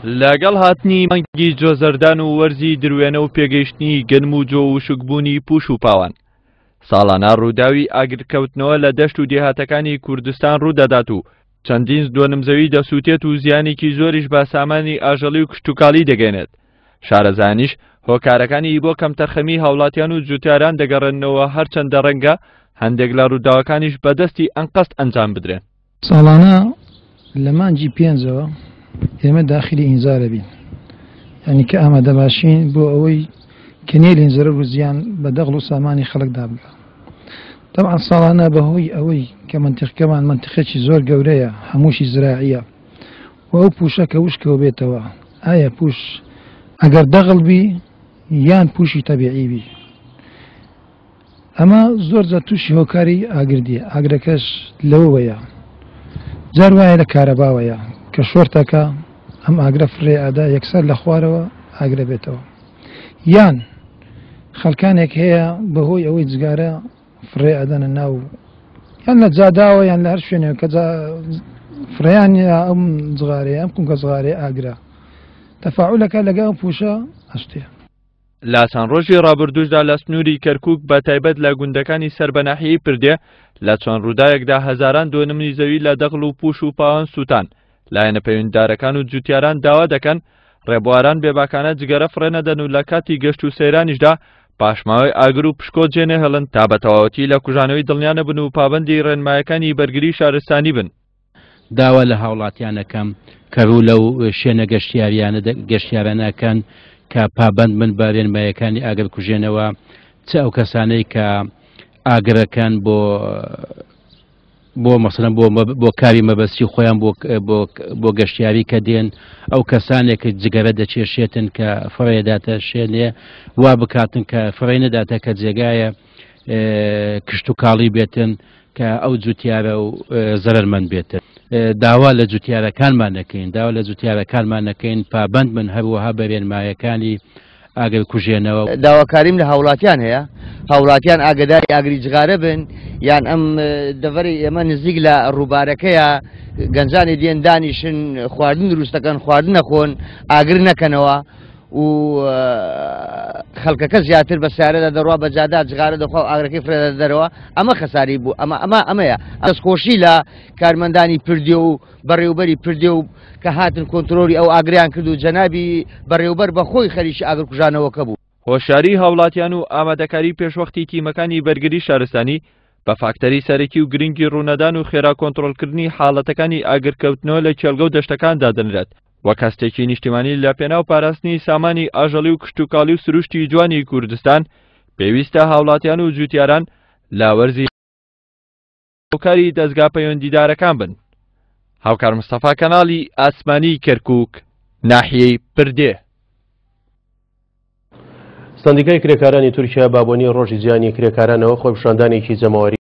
لەگەڵ هاتنی مانگی جۆزەردان و وەرزی دروێنە و پێگەیشتنی گەنم و جۆ و وشکبوونی پوش و پاوان، ساڵانە ڕووداوی ئاگرکەوتنەوە لە دەشت و دێهاتەکانی کوردستان ڕوودەدات و چەندین دۆنم زەوی دەسووتێت و زیانێکی زۆریش بە سامانی ئاژەڵی و کشتوکاڵی دەگەێنێت. شارەزایانیش هۆکارەکانی بۆ کەمتەرخەمی هاوڵاتیان و جوتیاران دەگەڕێننەوە هەرچەندە ڕەنگە هەندێک لە ڕووداوەکانیش بەدەستی ئەنقەست ئەنجام بدرێن. ساڵانە لە مانگی پێنجەوە ئێمە داخلی ئینزارە بین یعنی کە ئامادە باشین بۆ ئەوەی کە نێلین زەرەر و زیان بە دەغڵ و سامانی خەڵکدا بگا. تەبعەن ساڵانە بەهۆی ئەوەی کە مەنتیقەکەمان مەنتیقێکی زۆر گەورەیە هەمووشی زراعیە و ئەو پووشە کە وشکەوە بێتەوە ئایا پووش ئەگەر دەغڵ بی یان پووشی تەبیعی بی ئەمە زۆر جار تووشی هۆکاری ئاگر دیە، ئاگرەکەش لەوەوەیە جار وایە لە کارەباوەیە کە شۆرتەکە ئەم ئاگرە فڕێ ئەدا یەکسەر لە خوارەوە ئاگرە بێتەوە یان خەڵکانێک هەیە بەهۆی ئەوەی جگارە فڕێ ئەدەنە ناو یان لە جاداوە یان لە هەر شوێنێک کە فڕیان ئەم جغارەیە ئەم قونکە جغارەیە ئاگرە تەفاعولەکە لەگەڵ ئەم پوشە ئەشتێ. لە چەند ڕۆژی ڕابردووشدا لە سنووری کەرکووک بە تایبەت لە گوندەکانی سەر بە ناحیەی پردێ لە چەند ڕووداوێکدا هەزاران دۆنمنی زەوی لە دەغڵ و پوش و پاوان سووتان. لایەنە پەیوەندیدارەکان و جوتیاران داوا دەکەن ڕێبواران بێباکانە جگەرە فڕێ نەدەن و لە کاتی گەشت و سەیرانیشدا پاشماوەی ئاگر و پشکۆ جێنەهێڵن تا بە تەواوەتی لە کوژانەوەی دڵنیا نەبن و پابەندی ڕێنمایەکانی بەرگری شارستانی بن. داوا لە هاوڵاتیان ئەکەم کە ڕوو لەو شوێنە گەشتیاریانە گەشتیارانە ئەکەن کە پابەند بن بە رێنمایەکانی ئاگرکوژێنەوە، چ ئەو کەسانەی کە ئاگرەکەن بۆ بۆ مەسەلەن بۆ بۆ کاری مەبەستی خۆیان بۆ بۆ بۆ گەشتیاری کە دێن ئەو کەسانێک کە جگەرە دەچێشێتن کە فڕێداتە شوێنێ وا بکاتن کە فڕێ نەداتە کە جێگایە کشتوکاڵی بێتن کە ئەو جوتیارە و زەرەرمەند بێتن. داوا لە جوتیارەکانمان دەکەین داوا لە جوتیارەکانمان دەکەین پابەند بن هەروەها بە رێنمایەکانی ئاگر کوژێنەوە. داواکاریم لە هاوڵاتیان هەیە هاوڵاتیان ئاگداری ئاگری جغارە بن یان ئەم دەڤەری ئێمە نزیک لە ڕووبارەکەیە گەنجانی دێن دانیشن خواردن دروستەکەن خواردن نەخۆن ئاگر نەکەنەوە و خەڵکەکە زیاتر بە سیارەدا دەڕوا بە جادا جغارە دەخوا و ئاگرەکەی فرێدە دەرەوە ئەمە خەساری بوو ئەمە ئەمە ئەمەیە دەستخۆشی لە کارمەندانی پردێ و بەڕێوبەری پردێ و کە هاتن کۆنترۆلی ئەو ئاگریان کرد و جەنابی بەڕێوبەر بە خۆی خەریکی ئاگرکوژانەوەکە بوو. هۆشیاری هاوڵاتیان و ئامادەکاری پێشوەختی تیمەکانی بەرگری شارستانی بە فاکتەری سەرەکی و گرنگی ڕوونەدان و خێرا کۆنترۆڵکردنی حاڵەتەکانی ئاگرکەوتنەوە لە کێڵگە و دەشتەکان دادەنرێت وەک هەستێکی نیشتیمانی لە پێناو پاراستنی سامانی ئاژەڵی و کشتوکاڵی و سروشتی جوانی کوردستان پێویستە هاوڵاتیان و جوتیاران لە وەرزی هاوکاری دەزگا پەیوەندیدارەکان بن. هاوکار مستەفا کەناڵی ئاسمانی کەرکوک ناحیەی پردێ. سەندیکای کرێکارانی تورکیا بە بۆنەی ڕۆژی جیهانی کرێکارانەوە خۆپیشاندانێکی جەماوەری.